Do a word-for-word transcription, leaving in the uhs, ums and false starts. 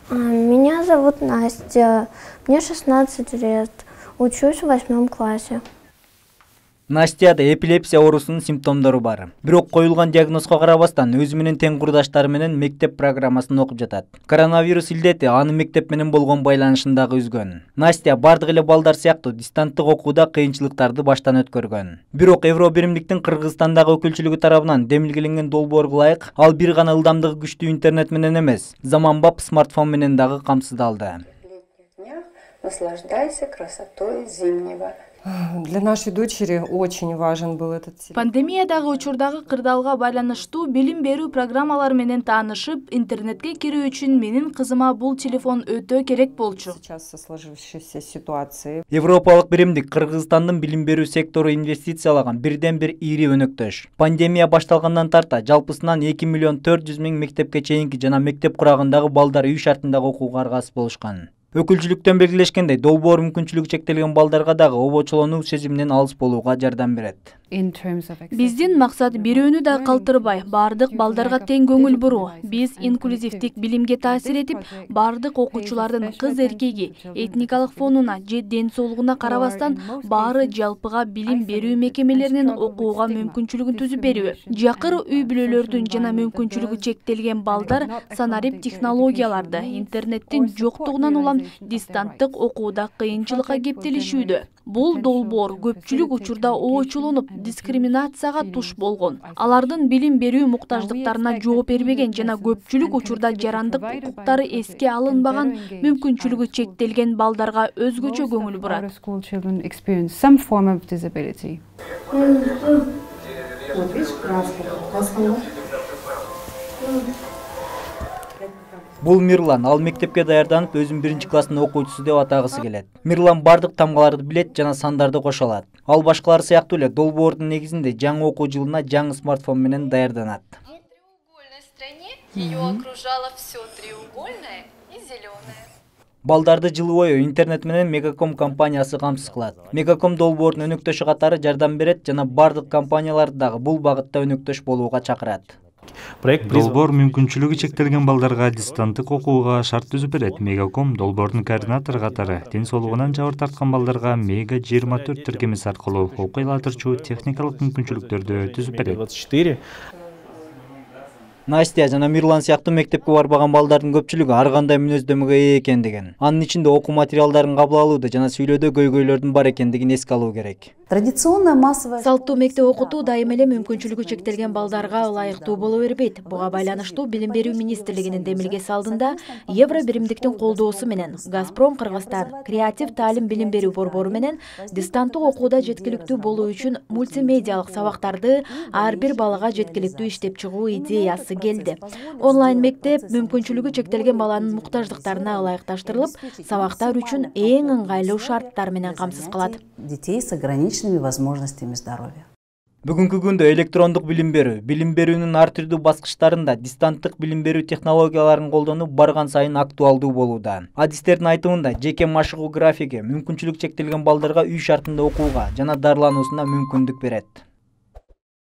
Меня зовут Настя, мне шестнадцать лет, учусь в восьмом классе. Настяда эпилепсия оорусунун симптомдору бар. Бирок коюлган диагнозго карабастан өзү менен тең курдаштары менен мектеп программасын окуп жатат. Коронавирус илдети анын мектеп менен болгон байланышын дагы үзгөн. Настя бардык эле балдар сыяктуу дистанттык окууда кыйынчылыктарды баштан өткөргөн. Бирок Евро биримдиктин Кыргызстандагы өкүлчүлүгү тарабынан демилгеленген долбоорго ылайык, ал бир гана ылдамдыгы күчтүү интернет менен эмес, заманбап смартфон менен дагы камсыздалды. Наслаждайся красотой зимнего. Для нашей дочери очень важен был этот телефон. Пандемиядагы учурдагы кырдаалга байланыштуу билим берүү программалары менен таанышып, интернетке кирүү үчүн менин кызыма бул телефон өтө керек болчу. Сейчас со сложившейся ситуации. Европалык биримдик Кыргызстандын билим берүү сектору инвестициялаган бирден бир ири өнөктөш. Пандемия башталгандан тарта жалпысынан эки миллион төрт жүз миң мектепке чейинки жана мектеп курагындагы балдар үй шартындагы окууга аргасыз болушкан. Өкүлчүлүктөн белгилешкендей, долбоор мүмкүнчүлүгү чектелген балдарга дагы обочолонуу сезиминен алыс болууга жардам берет. Биздин максат бирөөнү да калтырбай, бардык балдарга тең көңүл буруу. Биз инклюзивдик билимге таасир этип, бардык окуучулардын кыз эркеги, этникалык фонуна же ден соолугуна карабастан баары жалпыга билим берүү мекемелеринин окууга мүмкүнчүлүгүн түзүп берүү. Жакыр үй бүлөлөрдүн жана мүмкүнчүлүгү чектелген балдар санарип технологияларды, интернеттин жоктугунан улам дистанттык окууда кыйынчылыкка кептелишүүдө. Бул долбоор көпчүлүк учурда оочулонуп, дискриминацияга туш болгон. Алардын билим берүү муктаждыктарына жооп бербеген жана көпчүлүк учурда жарандык укуктары эске алынбаган, мүмкүнчүлүгү чектелген балдарга өзгөчө көңүл бурат. Бул Мирлан, ал мектепке даярданып, өзүн биринчи класстын окуучусу деп атагысы келет. Мирлан бардык тамгаларды билет жана сандарды кошо алат. Ал башкалар сыяктуу эле долбоордун негизинде жаңы окуу жылына жаңы смартфон менен даярданат. Балдарды жылы бою интернет менен Мегаком компаниясы камсыз кылат. Мегаком долбоордун өнөктөшү катары жардам берет жана бардык компанияларды дагы бул багытта өнөктөш болууга чакырат. Долбоор мүмкүнчүлүгү чектелген балдарга дистанттык окууга шарт түзүп берет. Мегаком долбоордун координатору катары ден соолугунан жабыр тарткан балдарга Мега жыйырма төрт тиркемеси аркылуу окуй алатырчу техникалык мүмкүнчүлүктөрдү түзүп берет. Настя жана Мирлан сыяктуу мектепке барбаган балдардын көпчүлүгү ар кандай мүнөздөмөгө ээ экендигин, анын ичинде окуу материалдарын кабыл алууда жана сүйлөөдө көйгөйлөрдүн бар экендигин эске алуу керек. Традиционная массовая Салттуу мектеп окутуу дайым эле мүмкүнчүлүгү чектелген балдарга ылайыктуу боло бербейт. Буга байланыштуу Билим берүү министрлигинин демилгеси алдында Евро биримдиктин колдоосу менен Газпром Кыргызстан креатив таалим билим берүү борбору менен дистанттык окууда жеткиликтүү болуу үчүн мультимедиалык сабактарды ар бир балага жеткиликтүү иштеп чыгуу идеясы келди. Онлайн мектеп мүмкүнчүлүгү чектелген баланын муктаждыктарына ылайыкташтырылып, сабактар үчүн эң ыңгайлуу шарттар менен камсыз кылат. детей с ограниченными возможностями здоровья. Бүгүнкү күндө электрондук билим берүү, билим берүүнүн ар түрдүү баскычтарында дистанттык билим берүү технологияларын колдонуу барган сайын актуалдуу болууда. Адистердин айтымында, жеке машыгуу графиги мүмкүнчүлүк чектелген балдарга үй шартында окууга жана дарылануусуна мүмкүндүк берет.